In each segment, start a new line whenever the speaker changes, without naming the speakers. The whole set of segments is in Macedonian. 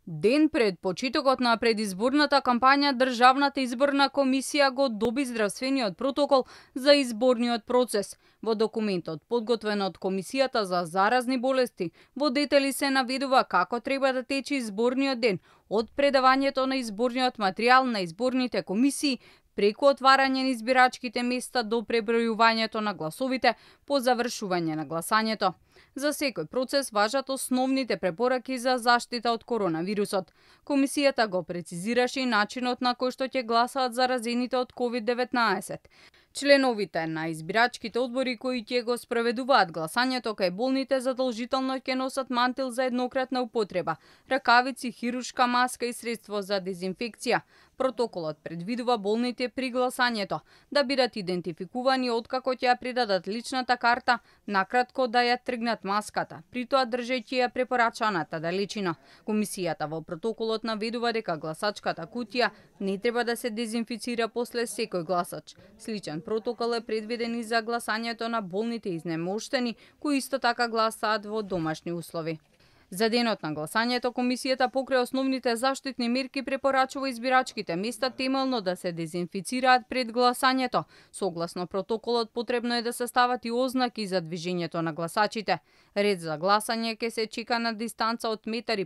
Ден пред почетокот на предизборната кампања, Државната изборна комисија го доби здравствениот протокол за изборниот процес. Во документот, подготвен од Комисијата за заразни болести, во детали се наведува како треба да тече изборниот ден, од предавањето на изборниот материјал на изборните комисии, преку отварање на избирачките места до пребројувањето на гласовите по завршување на гласањето. За секој процес важат основните препораки за заштита од коронавирусот. Комисијата го прецизираше и начинот на кој што ќе гласаат заразените од COVID-19. Членовите на избирачките одбори кои ќе го спроведуваат гласањето кај болните задолжително ќе носат мантил за еднократна употреба, ракавици, хируршка маска и средство за дезинфекција. Протоколот предвидува болните при гласањето да бидат идентификувани откако ќе ја предадат личната карта, накратко да ја тргнат маската, при тоа држејќи ја препорачаната далечина. Комисијата во протоколот наведува дека гласачката кутија не треба да се дезинфицира после секој гласач. Сличен протокол е предвиден и за гласањето на болните изнемоштени, кои исто така гласаат во домашни услови. За денот на гласањето, комисијата покрај основните заштитни мерки препорачува избирачките места темелно да се дезинфицираат пред гласањето. Согласно протоколот, потребно е да се стават и ознаки за движењето на гласачите. Ред за гласање ќе се чека на дистанца од 1,5 метри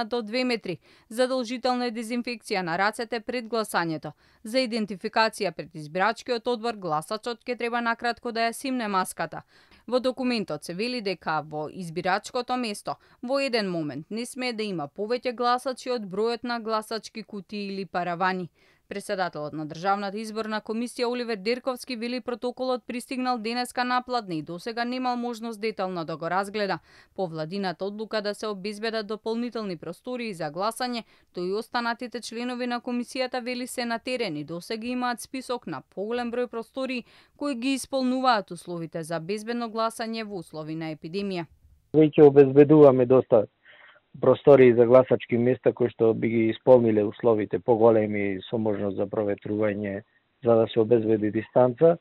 до 2 метри. Задолжителна е дезинфекција на рацете пред гласањето. За идентификација пред избирачкиот одбор, гласачот ќе треба накратко да ја симне маската. Во документот се вели дека во избирачкото место во еден момент не смее да има повеќе гласачи од бројот на гласачки кутии или паравани. Председателот на Државната изборна комисија Оливер Дерковски вели протоколот пристигнал денеска напладне и досега немал можност детално да го разгледа. По владината одлука да се обезбедат дополнителни простории за гласање, тој и останатите членови на комисијата вели се на терен и досега имаат список на поголем број простории кои ги исполнуваат условите за безбедно гласање во услови на епидемија.
Веќе обезбедуваме доста простории за гласачки места кои што би ги исполниле условите поголеми со можност за проветрување за да се обезбеди дистанца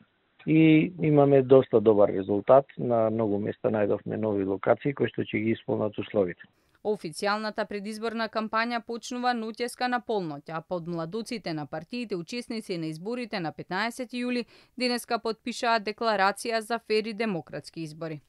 и имаме доста добар резултат. На многу места најдовме нови локации кои што ќе ги исполнат условите.
Официјалната предизборна кампања почнува ноќеска на полноќ, а подмладоците на партиите учесници на изборите на 15 јули денеска потпишаат декларација за фер и демократски избори.